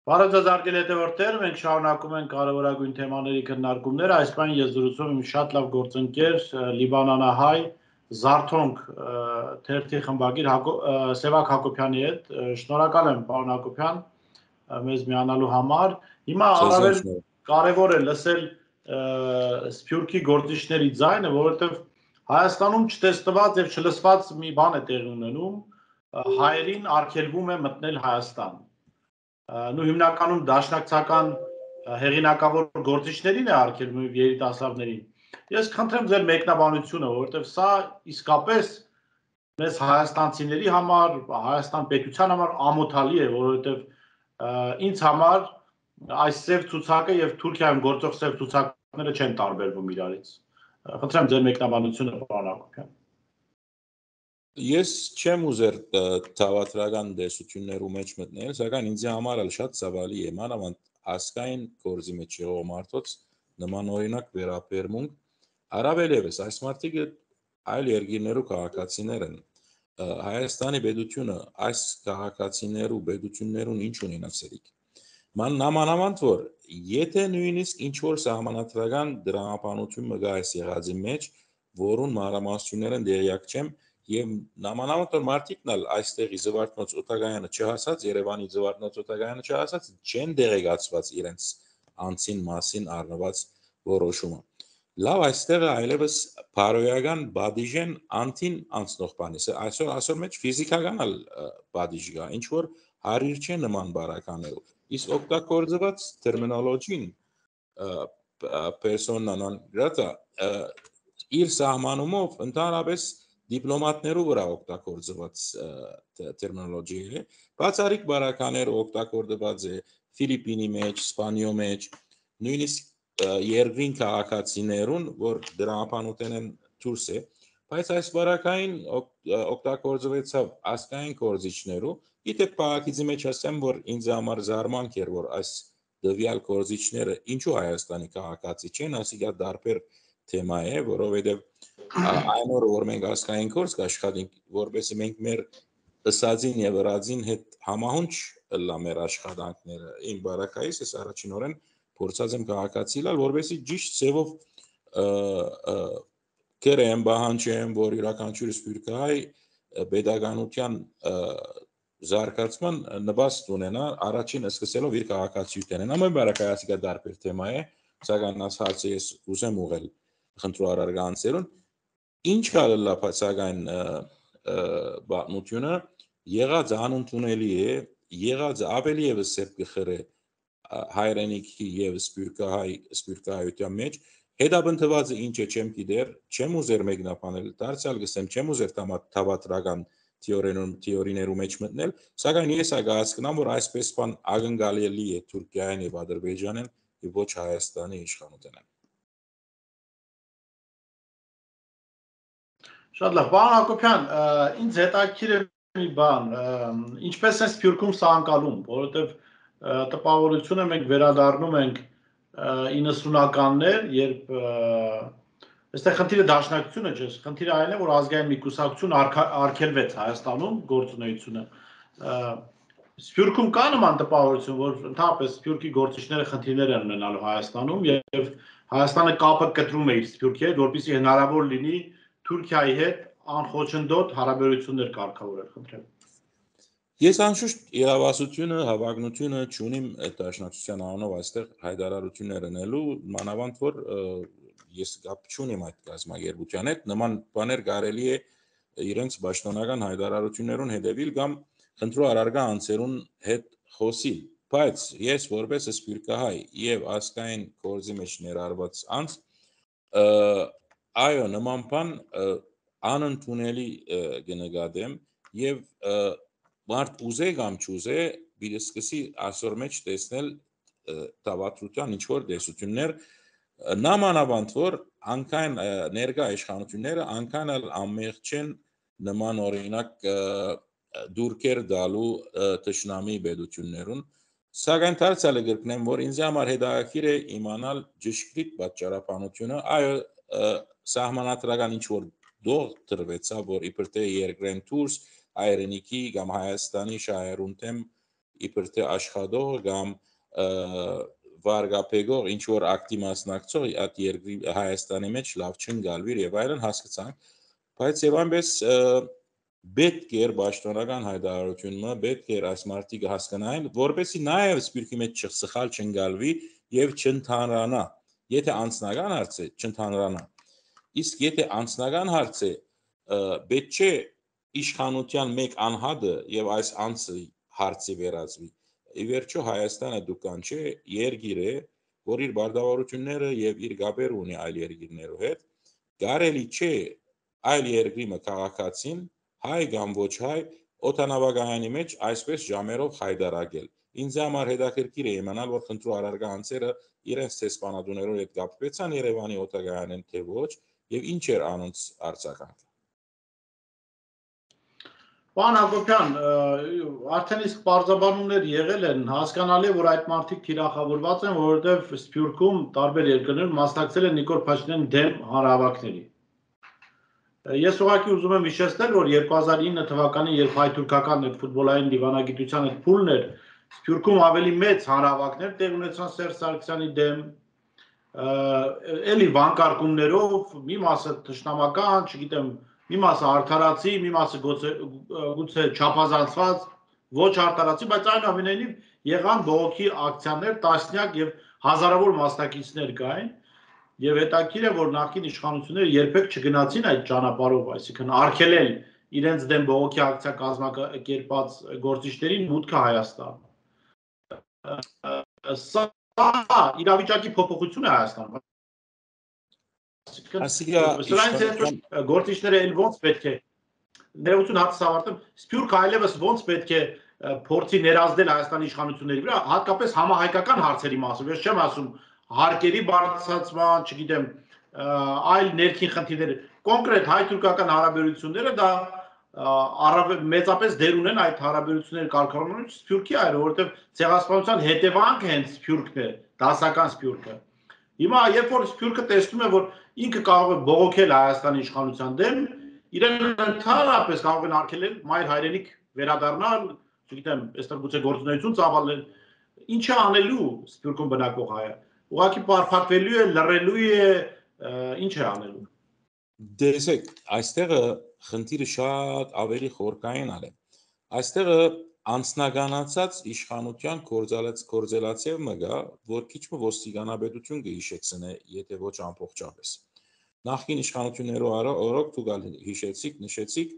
Բարև ձեզ հարգելի հետևորդներ, մենք շարունակում ենք կարևորագույն թեմաների քննարկումները, այս բան ես զրուցում եմ շատ լավ գործընկեր լիբանանահայ Զարթոնք թերթի խմբագիր Սևակ Հակոբյանի հետ, շնորհակալ եմ պարոն Հակոբյան մեզ միանալու համար, հիմա առավել կարևոր է լսել Սփյուռքի գործիչների ձայնը, որովհետև Հայաստանում չտեսնված եւ չլսված մի բան է տեղի ունենում, հայերին արգելվում է մտնել Հայաստան Նու հիմնականում դաշնակցական հեղինակավոր գործիչներին է արգելվում երիտասարդներին։ Ես խնդրեմ ձեր մեկնաբանությունը, որովհետև սա իսկապես մեզ հայաստանցիների համար, Հայաստան պետության համար ամոթալի է, որովհետև ինձ համար այս սև ցուցակը եւ Թուրքիայում գործող սև ցուցակները չեն տարբերվում իրարից։ Խնդրեմ ձեր մեկնաբանությունը, պարոն Հակոբյան։ Ես չեմ ուզեր թավատրական դեսություններու մեջ մտնել, սակայն ինձ համար էլ շատ ցավալի է, մանավանդ ասկային գործի մեջ եղող մարդոց նման օրինակ վերաբերմունք, առավել եւս այս մարդիկը այլ երկրներու քաղաքացիներ են, Հայաստանի պետությունը այս քաղաքացիներու պետություններուն ինչ ունենացերիկ։ Նամանավանդ որ եթե նույնիսկ ինչ որ սահմանադրական դրամապանություն մգա այս եղածի մեջ, որուն մանրամասնություններն դերյակ չեմ Եվ նամանավանդ որ մարդիկն էլ այստեղի զվարթնոց օտագայանը չհասած, Երևանի զվարթնոց օտագայանը չհասած, չեն դեղեկացված իրենց անձին մասին առնված որոշումը։ Լավ այստեղը այլևս բարոյական բադիժեն անտին անցնող բանիս է, այսօր մեջ ֆիզիկական էլ բադիժ կա, ինչ որ հարիր չէ նման բարականերով։ Իսկ օգտագործված տերմինոլոգին persona non grata իր սահմանումով ընդհանրապես դիպլոմատներու վրա օգտագործված տերմինոլոգիա է, բացառիկ բարականեր օգտագործված է Ֆիլիպինի մեջ, Իսպանիո մեջ, նույնիսկ երկրին քաղաքացիներուն, որ դրամապանության են դուրս է, բայց այս բարակային օգտագործվեցավ ասկային գործիչներու, գիտեք քաղաքիցի մեջ ասեմ, որ ինձ համար զարմանք էր, որ այս դվյալ գործիչները ինչու Հայաստանի քաղաքացի չեն, ասիկա դարբեր թեմա է, որովհետև այն օրը որ մենք ասկային գործ կաշխատենք, որովհետև մենք մեր ըսածին եւ ըրածին հետ համահունչ լա մեր աշխատանքները, իմ բարակայից ես առաջինորեն փորձած եմ քաղաքացի լալ, որովհետև ճիշտ ձևով կերեմ բանջեմ, որ յուրաքանչյուր սփյուռքահայ pedagogian զարգացման նպաստ ունենա առաջին սկսելով իր քաղաքացիությունն։ Ամեն բարակայացիկա դարբեր թեմա է, սակայն այս հարցը ես ուզեմ ուղղել խնդրարար գանցերուն ինչ կալլա սակայն բանությունը եղած անընդունելի է, եղած ավելի եւս սեփ գխրե հայրենիքի եւ սփյուռքահայության մեջ հետապնդվածը ինչ է չեմ գիտեր, չեմ ուզեր մեկնաբանել, դարձյալ գսեմ չեմ ուզեր թավատրական թեորիներու մեջ մտնել, սակայն ես ագահացնամ, որ այսպես բան ակնկալելի է Թուրքիային եւ Ադրբեջանին եւ ոչ Հայաստանի իշխանութենեն։ Շատ լավ, պարոն Հակոբյան, ինձ հետաքրքիր է մի բան, ինչպես է Սփյուռքում սա անցալում, որովհետեւ տպավորությունը մենք վերադառնում ենք 90-ականներ, երբ այստեղ խնդիրը դաշնակցությունը չէ, խնդիրը այն է, որ ազգային մի կուսակցություն արգելվեց Հայաստանում գործունեությունը։ Սփյուռքում կա նման տպավորություն, որ ընդհանրապես Սփյուռքի գործիչները խնդիրներ են ունենալու Հայաստանում եւ Հայաստանը կապը կտրում է իր Սփյուռքի հետ, որպեսզի հնարավոր լինի Թուրքիայի հետ անխոչնդոտ հարաբերություններ կարգավորել, խնդրեմ։ Ես անշուշտ իրավասությունը, հավակնությունը չունիմ դաշնակցության անունով այստեղ հայտարարություններ անելու, մանավանդ որ ես կապ չունիմ այդ կազմակերպության հետ, նման բաներ կարելի է իրենց պաշտոնական հայտարարություններուն հետևել կամ խնդրոարարգա անձերուն հետ խոսիլ, բայց ես որպես սփյուռքահայ եւ ասկային գործի մեջ ներառված անձ այո նման բան անընդունելի կնկատեմ եւ մարդ ուզե կամ չուզե պիտի սկսի այսօր մեջ տեսնել տավատրության ինչ որ դեսություններ նամանավանդ որ անկայն ներկա իշխանությունները անկայն ամեղ չեն նման օրինակ դուրքեր դալու տշնամի պետություններուն Սակայն դարձյալը գրկնեմ, որ ինձ համար հետաքրքիր է իմանալ ճշգրիտ պատճառաբանությունը, այո, սահմանադրական ինչ-որ դող տրվեցավ, որ իբր թե երկրեն դուրս հայրենիքի կամ Հայաստանի շահերուն թեմ իբր թե աշխատող կամ վարգապեգող ինչ-որ ակտի մասնակցող այդ երկրի Հայաստանի մեջ լավ չընկալվիր եւ այլն հասկացանք, բայց եւ այնպես պետք էր պաշտոնական հայտարարությունը, պետք էր այս մարտիկը հասկանային, որպեսզի նաև սպիրկի մեջ սխալ չընկալվի եւ չընդհանրանա։ Եթե անձնական հարց է, չընդհանրանա։ Իսկ եթե անձնական հարց է, պետք չէ իշխանության մեկ անհատը եւ այս անձը հարցի վերածվի։ Ի վերջո Հայաստանը դուքան չէ, երկիր է, որ իր բարդավորությունները եւ իր գաբեր ունի այլ երկիրներու հետ։ Կարելի չէ այլ երկրի քաղաքացին հայ կամ ոչ հայ օտանավակայանի մեջ այսպես ժամերով հայտարարել։ Ինձ համար հետաքրքիր է իմանալ, որ խնդրու առարգա անձերը իրենց տեսփանատուներով հետ կապվեցան Երևանի օտանավակայանին թե ոչ եւ ինչ էր անոնց արձագանքը։ Պարոն Հակոբյան, արդեն իսկ պարզաբանումներ եղել են, հասկանալի է, որ այդ մարդիկ թիրախավորված են, որովհետև Սփյուռքում տարբեր երկրներում մասնակցել են Նիկոլ Փաշինյանի դեմ հանրահավաքների։ Ես ուղղակի ուզում եմ հիշեցնել, որ 2009 թվականին, երբ հայ-թուրքական ֆուտբոլային դիվանագիտության այդ փուլն էր, Սփյուռքում ավելի մեծ հանրահավաքներ տեղ ունեցան Սերժ Սարգսյանի դեմ, էլի վանկարկումներով, մի մասը թշնամական, չգիտեմ, մի մասը արդարացի, մի մասը գուցե չափազանցված, ոչ արդարացի, բայց այնուամենայնիվ եղան բողոքի ակցիաներ, տասնյակ եւ հազարավոր մասնակիցներ կային, եւ հետաքրքիր է, որ նախկին իշխանությունները երբեք չգնացին այդ ճանապարհով, այսինքն արգելել իրենց դեմ բողոքի ակցիա կազմակերպած գործիչներին մուտքը Հայաստան։ Սա իրավիճակի փոփոխություն է Հայաստանում։ Սրանից հետո գործիչները էլ ոնց պետք է ներողություն հատս ավարտեմ, Սփյուռքը այլևս ոնց պետք է փորձի ներազդել Հայաստանի իշխանությունների վրա, հատկապես համահայկական հարցերի մասով, ես չեմ ասում հարկերի բարձրացման, չգիտեմ, այլ ներքին խնդիրներ, կոնկրետ հայ-թուրքական հարաբերությունները դա մեծապես դեր ունեն այդ հարաբերությունների կարգավորումից Սփյուռքի այր, որովհետև ցեղասպանության հետևանքը հենց Սփյուռքն է, դասական Սփյուռքը։ Հիմա երբ որ Սփյուռքը տեսնում է, որ ինքը կարող է բողոքել Հայաստանի իշխանության դեմ, իրեն ընդհանրապես կարող են արգելել մայր հայրենիք վերադառնալ, չգիտեմ, այստեղ գուցե գործունեություն ծավալել, ինչ է անելու Սփյուռքում բնակվող հայը։ Ուղղակի պարփակվելու է, լռելու է, ինչ է անելու։ Դեսեք, այստեղը խնդիրը շատ ավելի խորքային է։ Այստեղը անձնականացած իշխանության կորձելացիվ մգա, որ քիչ ոստիկանապետություն կհիշեցնե, եթե ոչ ամբողջապես։ Նախկին իշխանություններով օրոք դուք հիշեցիք, նշեցիք,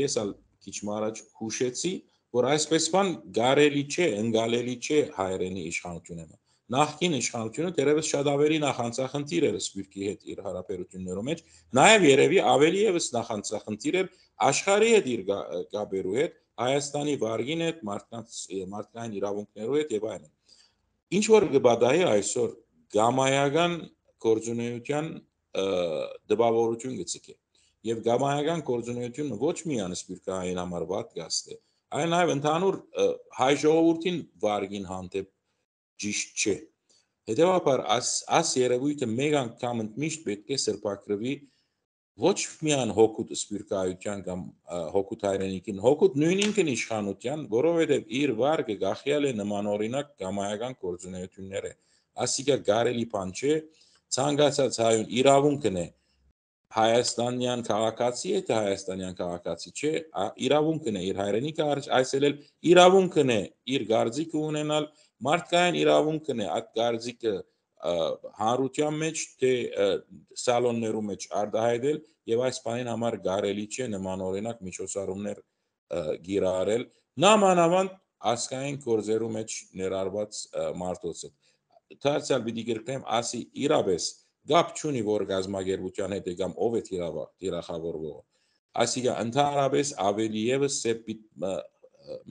ես ալ քիչ առաջ հուշեցի, որ այսպես բան կարելի չէ, ընկալելի չէ հայրենի իշխանությունը։ Նախկին իշխանությունը դերևս շատ ավելի նախանցախնդիր էր Սփյուռքի հետ իր հարաբերություններում մեջ, նաև երևի ավելի եւս նախանցախնդիր էր աշխարհի հետ իր գաբերու հետ, Հայաստանի վարգին հետ, մարդկային իրավունքներու հետ եւ այլն։ Ինչ որ կբադայի այսօր գամայական գործունեության դպավորություն գցիկե եւ գամայական գործունեությունը ոչ միայն Սփյուռքային համար պատգաստ է, այլ նաեւ ընդհանուր հայ ժողովրդին վարգին հանդեպ ճիշտ չէ։ Հետևաբար այս երևույթը մեկ անգամ ընդմիշտ պետք է սրբակրվի ոչ միայն հոգուտ սփյուռքայության կամ հոգուտ հայրենիքին, հոգուտ նույն ինքն իշխանության, որովհետև իր վարկը գախյալ է նմանօրինակ գամայական գործունեությունները։ Ասիկա կարելի բան չէ, ցանկացած հայուն իրավունքն է հայաստանյան քաղաքացի է, թե հայաստանյան քաղաքացի չէ, իրավունքն է իր հայրենիքը այցելել, իրավունքն է իր գարձիկը ունենալ, մարդկային իրավունքն է այդ գարձիկը հանրության մեջ թե սալոններում մեջ արտահայտել եւ այս բանին համար կարելի չէ նմանօրինակ միջոցառումներ գիրառել նամանավանդ ասկային գործերու մեջ ներառված մարդոցը դարձյալ պիտի գրկնեմ ասի իրապես գապ չունի որ գազագերբության հետ կամ ով է թիրախավորվող ասիկա ընդհանրապես ավելի եւս սեփ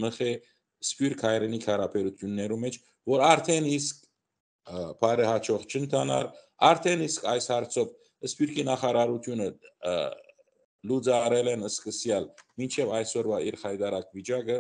մխե սփյուռք հայրենիք հարաբերություններու մեջ որ արդեն իսկ բարե հաջող չընթանար արդեն իսկ այս հարցով Սփյուռքի նախարարությունը լուծարել են սկսյալ մինչև այսօրվա իր հայտարարակ վիճակը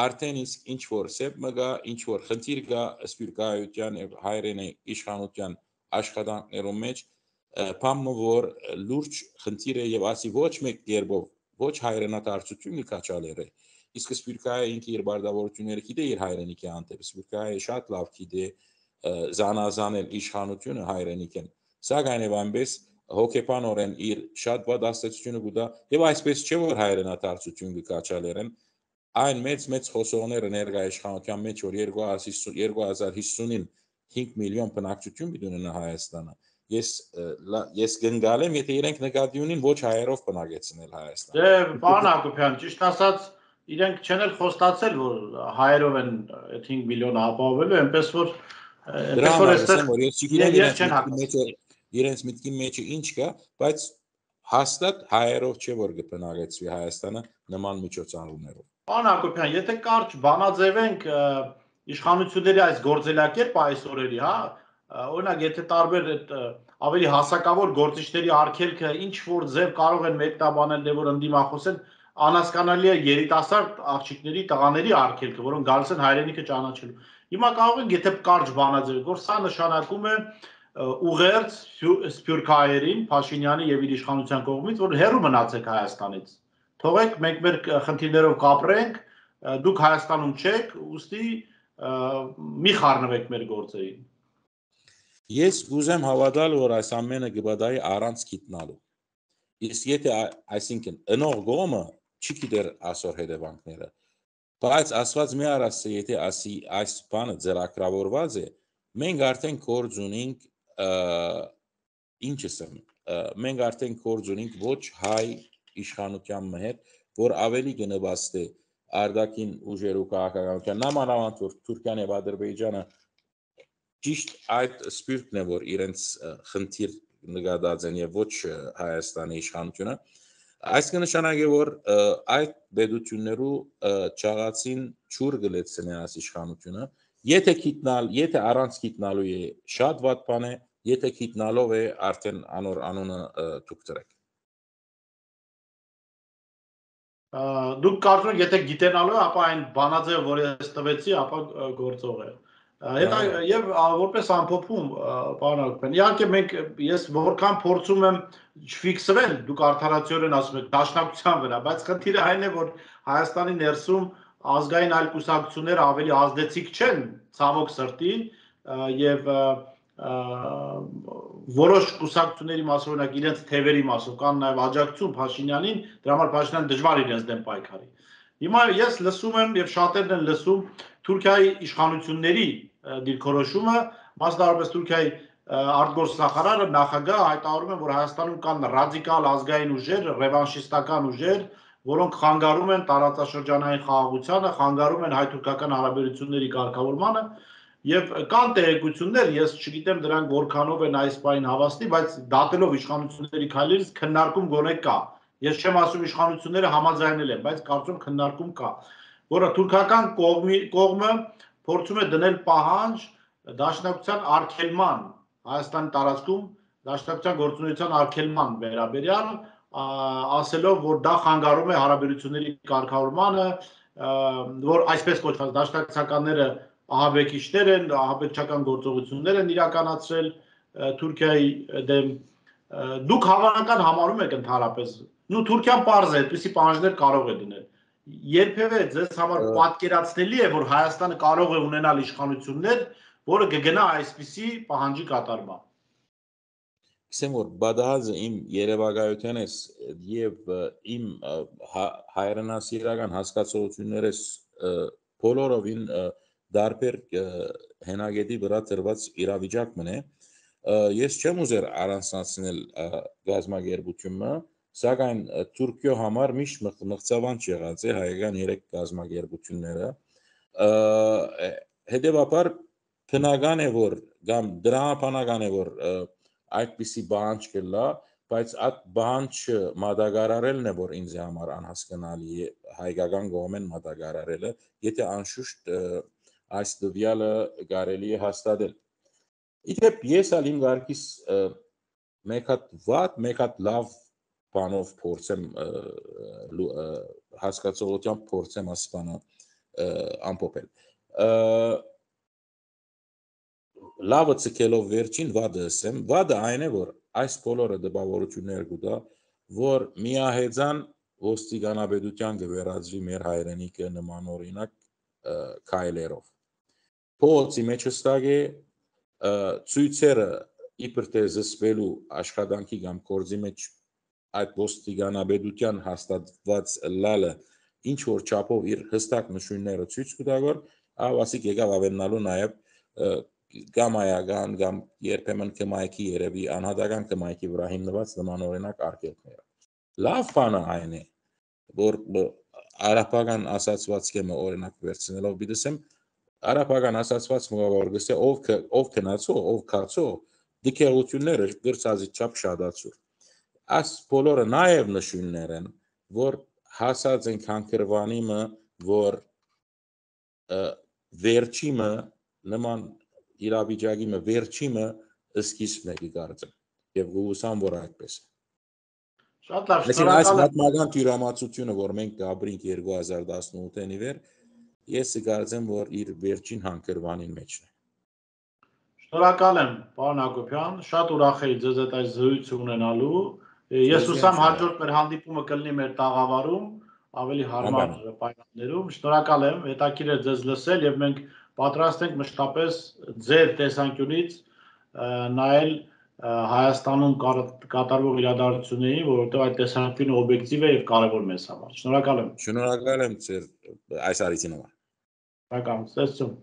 արդեն իսկ ինչ որ սեփ մգա, ինչ որ խնդիր գա սպիրկայության եւ հայրենի իշխանության աշխատանքներում մեջ, բամը որ լուրջ խնդիր է եւ ասի ոչ մեկ կերպով ոչ հայրենադարձություն կաչալեր է, իսկ սպիրկայը ինքը իր բարդավորությունները գիտե իր հայրենիքի հանդեպ, սպիրկայը շատ լավ գիտե զանազանել իշխանությունը հայրենիքին, սակայն եւ այնպես հոգեբանորեն իր շատ վատ աստեցությունը գուտա եւ այսպես չէ որ հայրենադարձություն կաչալերեն այն մեծ խոսողները ներկայ իշխանության մեջ որ 2050-ին 5 միլիոն բնակչություն պիտի ունենա Հայաստանը ես գնալ եմ եթե իրենք նկատի ունին ոչ հայերով բնակեցնել Հայաստանը դե պարոն Հակոբյան ճիշտ ասած իրենք չեն էլ խոստացել որ հայերով են 5 միլիոն ապահովելու այնպես որ ես չգիտեմ իրենց միտքի մեջը ինչ կա բայց հաստատ հայերով չէ որ կբնակեցվի Հայաստանը նման միջոցառումներով Պարոն Հակոբյան եթե կարճ բանաձևենք իշխանությունների այս գործելակերպը այս օրերի հա օրինակ եթե տարբեր ավելի հասակավոր գործիչների արգելքը ինչ որ ձև կարող են մեկտաբանել դե որ ընդդիմախոսեն անհասկանալի է երիտասարդ աղջիկների տղաների արգելքը որոնք գալիս են հայրենիքը ճանաչելու հիմա կարող ենք եթե կարճ բանաձևենք որ սա նշանակում է ուղերձ սփյուռքահայերին Փաշինյանի եւ իր իշխանության կողմից որ հեռու մնացեք Հայաստանից թողեք մենք մեր խնդիրներով կապրենք դուք Հայաստանում չեք ուստի մի խառնվեք մեր գործերին Ես ուզեմ հավատալ որ այս ամենը կբադայի առանց գիտնալու իսկ եթե այսինքն ընող գոմը չի գիտեր այսօր հետևանքները բայց ասված մի արասը եթե ասի այս բանը ձեռագրավորված է մենք արդեն կորձ ունենք ինչս եմ մենք արդեն կորձ ունենք ոչ հայ իշխանության հետ որ ավելի կնվաստե արդակին ուժերու քաղաքականության նամանավանդ որ Թուրքիան եւ Ադրբեջանը ճիշտ այդ սպիրտն է որ իրենց խնդիր նկատած են եւ ոչ Հայաստանի իշխանությունը այս կնշանակի որ այդ պետություններու ճաղացին ճուր գլեցնի այս իշխանությունը եթե առանց գիտնալու է շատ վատ բան է եթե գիտնալով է արդեն անոր անունը դուք դրեք դուք կարծում եք եթե գիտենալու է ապա այն բանաձևը որ ես տվեցի ապա գործող է Եվ որպես ամփոփում, պարոն Հակոբյան, իհարկե մենք ես որքան փորձում եմ չֆիքսվել, դուք արդարացիորեն ասում եք դաշնակցության վրա, բայց խնդիրը այն է, որ Հայաստանի ներսում ազգային այլ կուսակցությունները ավելի ազդեցիկ չեն, ցավոք սրտի, եւ որոշ կուսակցությունների մասով օրինակ իրենց թևերի մասով կան նաեւ աջակցություն Փաշինյանին, դրա համար Փաշինյանը դժվար իրենց դեմ պայքարի։ Հիմա ես լսում եմ եւ շատերն են լսում Թուրքիայի իշխանությունների դիրքորոշումը, մասնավորապես Թուրքիայի արտգործնախարարը նախագահ հայտարարում են, որ Հայաստանում կան ռադիկալ ազգային ուժեր, ռևանշիստական ուժեր, որոնք խանգարում են տարածաշրջանային խաղաղությանը, խանգարում են հայ-թուրքական հարաբերությունների կարգավորմանը եւ կան տեղեկություններ, ես չգիտեմ դրանք որքանով են այս բային հավաստի, բայց դատելով իշխանությունների քայլերից քննարկում գոնե կա։ Ես չեմ ասում իշխանությունները համաձայնել են, բայց կարծում քննարկում կա, որը թուրքական կողմը փորձում է դնել պահանջ դաշնակցության արգելման Հայաստանի տարածքում դաշնակցության գործունեության արգելման վերաբերյալ ասելով որ դա խանգարում է հարաբերությունների կարգավորմանը որ այսպես կոչված դաշնակցականները ահաբեկիչներ են ահաբեկչական գործողություններ են իրականացրել Թուրքիայի դեմ դուք հավանական համարում եք ընդհանրապես նու Թուրքիան պարզ է այդպիսի պահանջներ կարող է դնել Երբևէ ձեզ համար պատկերացնելի է, որ Հայաստանը կարող է ունենալ իշխանություններ, որը կգնա այսպիսի պահանջի կատարման։ Գիտեմ որ բադահազը իմ երևակայության ես եւ իմ հայրենասիրական հասկացություններս բոլորովին դարբեր հենագետի վրա դրված իրավիճակ մնե։ Ես չեմ ուզեր առանցնացնել գազագերբությունը Սակայն Թուրքիո համար միշտ մղձավանջ եղած է հայկական 3 գազագերբությունները հետևաբար բնական է որ կամ դրամաբանական է որ այդպիսի բանջ կլա բայց այդ բանջը մատակարարելն է որ ինձ համար անհասկանալի է հայկական կողմեն մատակարարելը եթե անշուշտ այս դվյալը կարելի է հաստատել իդեպ ես ալ իմ գարկիս մեկ հատ վատ մեկ հատ լավ բանով փորձեմ հասկացողությամբ փորձեմ ասպանը ամփոփել։ Լավը ցկելով վերջին վադը ասեմ, վադը այն է, որ այս բոլորը դպավորություններ կուտա, որ միահեծան ոստիկանապետության կվերածվի մեր հայրենիքը նման օրինակ քայլերով։ Փողոցի մեջ հստակ է ցույցերը իբր թե զսպելու աշխատանքի կամ կորձի մեջ այդ ոստիկանապետության հաստատված լալը ինչ որ չափով իր հստակ նշույլները ցույց կտա, որ ավասիկ եկավ ավելնալու նաև գամայական կամ երբեմն կմայքի երևի անհատական կմայքի վրա հիմնված նման օրինակ արգելքները։ Լավ բանը այն է, որ արաբական ասացվածքը օրինակ վերցնելով դիտեմ, արաբական ասացվածքը որ գսե ով քնացո, ով քացո, դիքերությունները գրծածի չափ շատացու։ Այս բոլորը նաև նշույլներ են, որ հասած են քանքրվանիմը, որ վերջիմը նման իրավիճակի վերջիմը սկիզբն է գարցը եւ գուսան որ այդպես է։ Շատ լավ, շնորհակալ եմ։ Այս պատմական թյուրամացությունը, որ մենք գաբրինք 2018-ին ի վեր, ես կարծեմ, որ իր վերջին հանգրվանին մեջն է։ Շնորհակալ եմ, պարոն Հակոբյան, շատ ուրախ եի ձեզ հետ այս զրույցը ունենալու։ Ես ուսամ հաջորդ մեր հանդիպումը կլինի մեր տաղավարում, ավելի հարմար պայմաններում։ Շնորհակալ եմ, հետաքրքիր է ձեզ լսել եւ մենք պատրաստ ենք մշտապես ձեր տեսանկյունից նայել Հայաստանում կատարվող իրադարձություններին, որովհետեւ այդ տեսանկյունը օբյեկտիվ է եւ կարեւոր մեզ համար։ Շնորհակալ եմ։ Շնորհակալ եմ ձեր այս արիցին համար։ Շնորհակալ եմ, ցտեսություն։